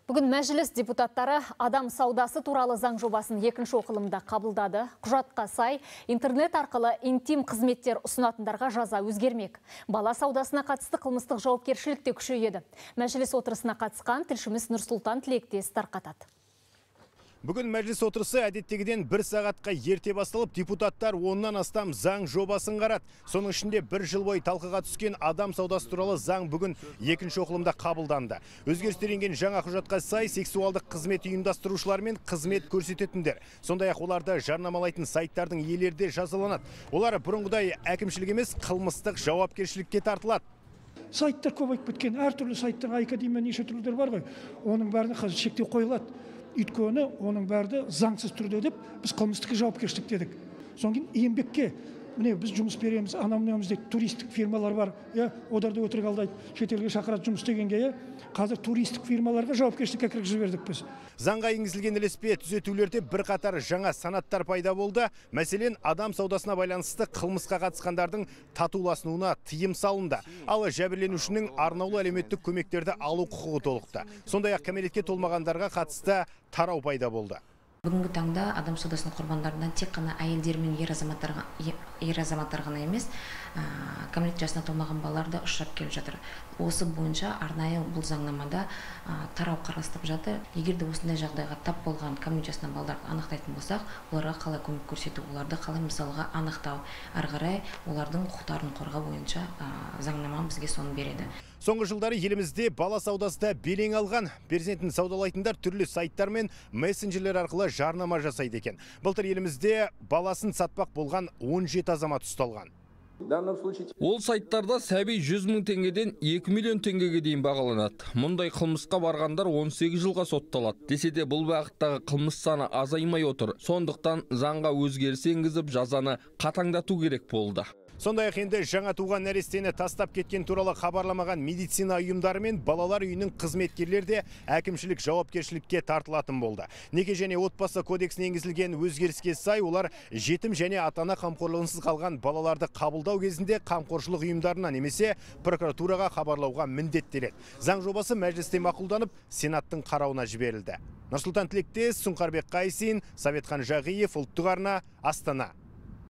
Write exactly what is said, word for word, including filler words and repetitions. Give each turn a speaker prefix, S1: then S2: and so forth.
S1: Бүгін мәжіліс депутаттары адам саудасы туралы заң жобасын екінші оқылымда қабылдады. Құжатқа сай, интернет арқылы интим қызметтер ұсынатындарға жаза өзгермек. Бала саудасына қатысты қылмыстық жауапкершілік те күшейеді. Мәжіліс отырысына қатысқан тілшіміз Нұрсұлтан Тілектес тарқатады.
S2: Бүгін мәжіліс отырысы әдеттегіден бір сағатқа ерте басталып, депутаттар оннан астам заң жобасын қарады. Соның ішінде бір жыл бойы талқыға түскен адам саудасы туралы заң бүгін екінші оқылымда қабылданды. Өзгерістер енген жаңа құжатқа сай, сексуалдық қызмет ұйымдастырушылар мен қызмет көрсететіндер, сондай-ақ оларды жарнамалайтын сайттардың иелері де жазаланады. Олар бұрынғыдай әкімшілік емес, қылмыстық жауапкершілікке тартылады.
S3: Сайттар көбейіп кеткен, әртүрлі сайттар, академия неше түрлілер бар ғой. Оның бәріне қазір шектеу қойылады. Өйткені оның бәрді заңсыз түрде деп біз қылмыстық жауапкершілік дедік. Содан кейін еңбекке, міне біз жұмыс береміз, анау-мынауымызда туристік фирмалар бар, иә, оларды өтірік алдайды, шетелге шақырады жұмыс істегенге, қазір туристік фирмаларға жауапкершілікке кіргізіп жібердік біз.
S2: Заңға енгізілген ілеспе түзетулерде бірқатар жаңа санаттар пайда болды. Мәселен, адам саудасына байланысты қылмысқа қатысқандардың татуласуына тыйым салынды. Ал жәбірленушінің арнаулы әлеуметтік көмектерді алу құқығы толықты. Сондай-ақ кәмелетке толмағандарға қатысты тарау пайда болды.
S4: Бүгінгі таңда адам саудасының құрбандарынан тек қана әйелдер мен ер азаматтар ер азаматтар ғана емес, кәмелет жасына толмаған балалар да ұшырап келіп жатыр. Осы бойынша арнайы бұл заңнамада тарау қарастырылып жатыр. Егер де осындай жағдайға тап болған кәмелет жасына балаларды анықтайтын болсақ, оларға қалай көмек көрсету, оларды қалай мысалға анықтау, ары қарай олардың құқықтарын қорғау бойынша заңнама бізге соны береді.
S2: Соңғы жылдары елімізде бала саудасы да белең алған. Перзентін саудалайтындар түрлі сайттар мен мессенджерлер арқылы жарнама жасайды екен. Былтыр елімізде баласын сатпақ болған он жеті азамат ұсталған.
S5: Ол сайттарда сәби жүз мың теңгеден екі миллион теңгеге дейін бағаланады. Мұндай қылмысқа барғандар он сегіз жылға сотталады. Десе де бұл бағыттағы қылмыс саны азаймай отыр. Сондықтан заңға өзгеріс енгізіп, жазаны қатаңдату керек болды.
S2: Сондай-ақ енді жаңа туған нәрестені тастап кеткен туралы хабарламаған медицина ұйымдары мен балалар үйінің қызметкерлері де әкімшілік жауапкершілікке тартылатын болды. Неке және отбасы кодексіне енгізілген өзгеріске сай, олар жетім және ата-ана қамқорлығынсыз қалған балаларды қабылдау кезінде қамқоршылық ұйымдарына немесе прокуратураға хабарлауға міндеттеледі. Заң жобасы мәжілісте мақұлданып, Сенаттың қарауына жіберілді. Нұрсұлтан Тілектес, Сұңқарбек Қайсин, Советхан Жағиев, Ұлттық арна, Астана.